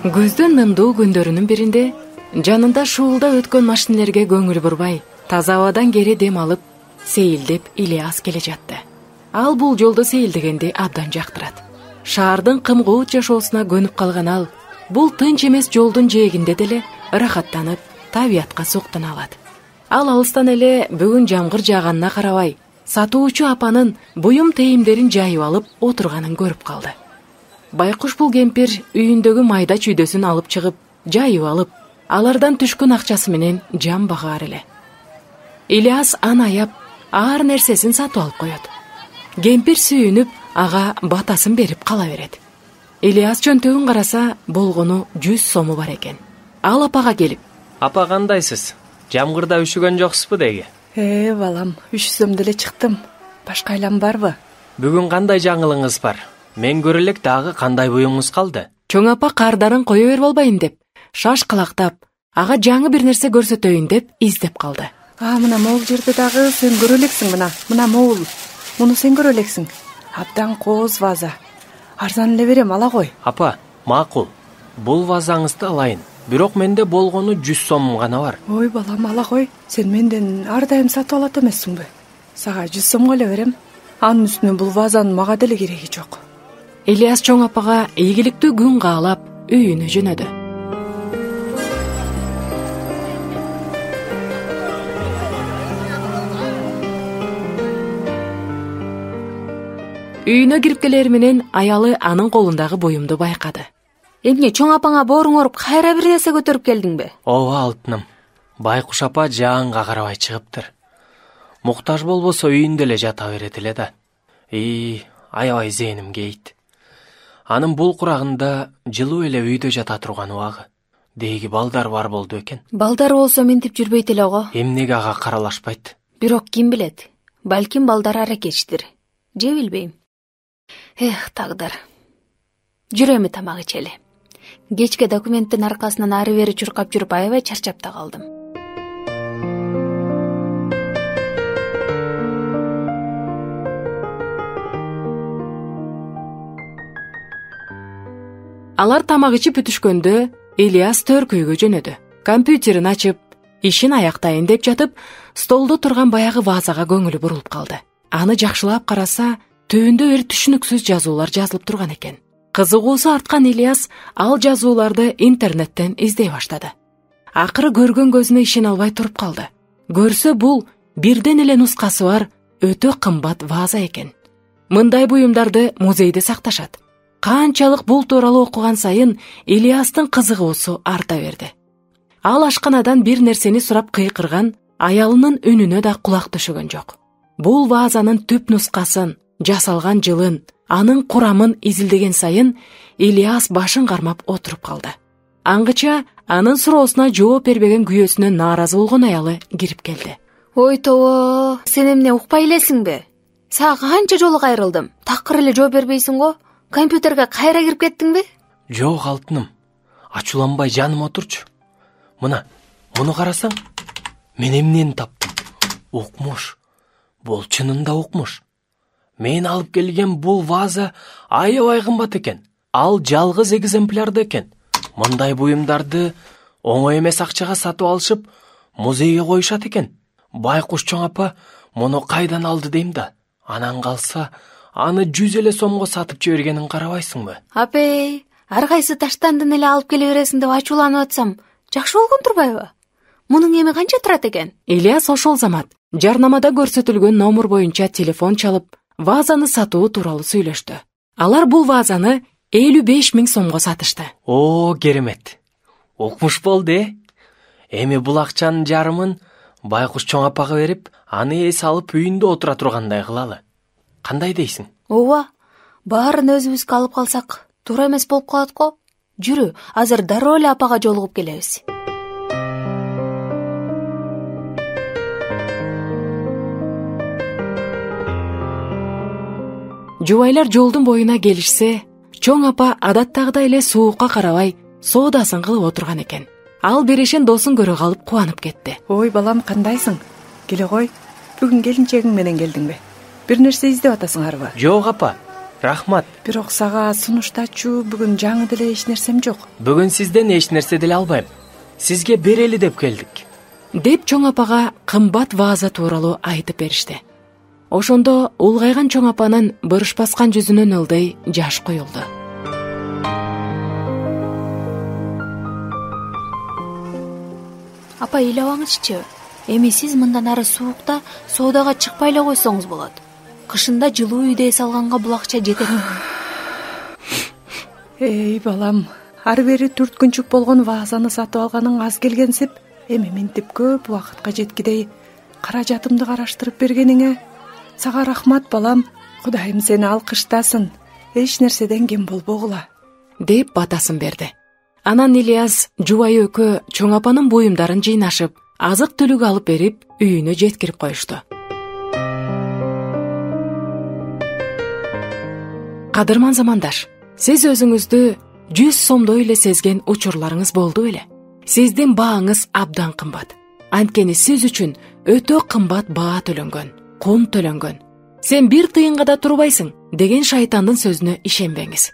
Көздөн мымдуу күндөрүнүн биринде жанында шуулдап өткөн машинелерге көңүл бурбай, таза абадан кери дем алып, сейилдеп Ильяс келе жатты. Ал бул жолду сейилдегенди абдан жактырат. Шаардын кымкуут жашоосуна көнүп калган ал бул тынч эмес жолдун жээгинде деле ырахаттанып, табиятка суктана алат. Ал алыстан эле бүгүн жамгыр жааганына карабай, сатуучу апанын буюм тейимдерин жайып алып отурганын көрүп калды. Байкуш бул кемпир үйүндөгү майда чүйдөсүн алып чыгып, жайып алып, алардан түшкөн акчасы менен жан багаар эле. Ильяс аны аяп, ар нерсесин сатып алып коет. Кемпир сүйүнүп, ага батасын берип кала берет. Ильяс чөнтөгүн караса, болгону 100 сому бар экен. Ал апага келип: "Апа, кандайсыз? Жамгырда үшүгөн жоксузбу деги?" Балам, үшсөм деле чыктым. Башка айлам барбы? Бүгүн кандай жаңылыгыңыз бар? Мен көрө элек дагы кандай буюңуз калды? Чоң апа кардарын кое берип албайын деп, шашкалактап, ага жаңы бир нерсе көрсөтөйүн деп издеп калды. Мына могул жерде дагы сен көрө элексиң, мына могул. Муну сен көрө элексиң. Абдан кооз ваза. Арзан эле берем, ала кой. Апа, макул. Бул вазаңызды алайын. Бирок менде болгону 100 сомум гана бар. Ой балам, ала кой. Сен менден ар дайым сатып алат эмессиңби? Сага 100 сомго эле берем. Анын үстүнө бул вазанын мага деле кереги жок. Ильяс чоң апага ийгиликтүү күн каалап үйүнө жөнөдү. Үйүнө кирип келер менен аялы анын колундагы буюмду байкады. Эмне, чоң апаңа бооруң оруп, кайра бир нерсе көтөрүп келдиңби? Ооба алтыным. Байкуш апа жаанга карабай чыгыптыр. Муктаж болбосо үйүндө эле жата берет эле да. Аябай зээним кейт. Анын бул курагында жылуу эле үйдө жата турган убагы. Деги балдар бар болду экен. Балдар болсо ментип жүрбөйт эле го. Эмнеге ага каралашпайт? Бирок ким билет? Балким балдар аракетчидир. Же билбейм. Тагдыр. Жүрө эми тамак ичели. Кечке документтин аркасынан ары бери чуркап жүрүп аябай чарчап да калдым. Алар тамак ичип бүтүшкөндө Ильяс төркүйгө жөнөдү. Компьютерин ачып, ишин аяктайын деп жатып, столдо турган баягы вазага көңүлү бурулуп калды. Аны жакшылап караса, түбүндө бир түшүнүксүз жазуулар жазылып турган экен. Кызыгуусу арткан Ильяс ал жазууларды интернеттен издей баштады. Акыры көргөн көзүнө ишене албай туруп калды. Көрсө бул бирден эле нускасы бар өтө кымбат ваза экен. Мындай буюмдарды музейде сакташат. Канчалык бул тууралуу окуган сайын Ильястын кызыгуусу арта берди. Ал ашканадан бир нерсени сурап кыйкырган аялынын үнүнө да кулак түшөгөн жок. Бул вазанын түп нускасын, жасалган жылын, анын курамын изилдеген сайын Ильяс башын кармап отуруп калды. Аңгыча анын суроосуна жооп бербеген күйөөсүнө нааразы болгон аялы кирип келди. Ой тобо, сен эмне укпай элесиңби? Сага канча жолу кайрылдым. Такыр эле жооп бербейсиң го? Компьютерге кайра кирип кеттиңби? Жок алтыным. Ачууланбай жаным отурчу. Муну карасаң, мен эмнени таптым? Укмуш. Бул чынында укмуш. Мен алып келген бул ваза аябай кымбат экен. Ал жалгыз экземплярда экен. Мындай буюмдарды оңой эмес акчага сатып алышып, музейге коюшат экен. Байкуш чоң апа муну кайдан алды дейм да. Анан калса, аны 100 эле сомго сатып жибергенин карабайсыңбы? Апей, ар кайсы таштандын эле алып келе бересиң деп ачууланып атсам, жакшы болгон турбайбы? Мунун эми канча турат экен? Ильяс ошол замат жарнамада көрсөтүлгөн номер боюнча телефон чалып, вазаны сатуу тууралуу сүйлөштү. Алар бул вазаны 55 000 сомго сатышты. Керемет. Укмуш болду, Эми бул акчанын жарымын Байкуш чоң апага берип, аны эс алып үйүндө отура тургандай кылалы. Кандай дейсиң? Ооба, баарын өзүбүзгө алып калсак, туура эмес болуп калат го. Жүрү, азыр дароо эле апага жолугуп келебиз. Жубайлар жолдун боюна келишсе, чоң апа адаттагыдай эле суукка карабай соодасын кылып отурган экен. Ал берешен досун көрө калып кубанып кетти. Ой балам, кандайсың? Келе кой. Бүгүн келинчегиң менен келдиңби? Бир нерсе издеп атасыңарбы? Жок апа. Рахмат. Бирок сага сунуштачу бүгүн жаңы деле эч нерсем жок. Бүгүн сизден эч нерсе деле албайм. Сизге берели деп келдик. деп чоң апага кымбат вааза тууралуу айтып беришти. Ошондо улгайган чоң апанын бырыш баскан жүзүнөн ылдый жаш куюлду. Апа, ыйлабаңызчы. Эми сиз мындан ары суукта соодага чыкпай эле койсоңуз болот. Кышында жылуу үйдө эс алганга бул акча жетет. Эй балам, ары бери түрткүнчүк болгон ваазаны сатып алганың аз келгенсип, эми минтип көп убакытка жеткидей каражатымды караштырып бергениңе сага рахмат балам. Кудайым сени алкыштасын. Эч нерседен кем болбогула, деп батасын берди. Анан Ильяс жубайы экөө чоң апанын буюмдарын жыйнашып, азык түлүк алып берип, үйүнө жеткирип коюшту. Кадырман замандаш, сиз өзүңүздү 100 сомдой эле сезген учурларыңыз болду беле? Сиздин бааңыз абдан кымбат. Анткени сиз үчүн өтө кымбат баа төлөнгөн, кун төлөнгөн. Сен бир тыйынга да турбайсың деген шайтандын сөзүнө ишенбеңиз.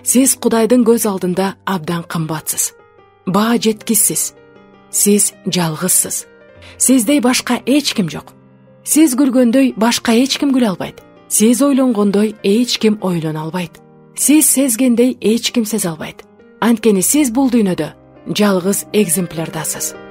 Сиз Кудайдын көз алдында абдан кымбатсыз. Баа жеткисиз. Сиз жалгызсыз. Сиздей башка эч ким жок. Сиз күлгөндөй башка эч ким күлө албайт. Сиз ойлонгондой эч ким ойлоно албайт. Сиз сезгендей эч ким сезе албайт. Анткени сиз бул дүйнөдө жалгыз экземплярдасыз.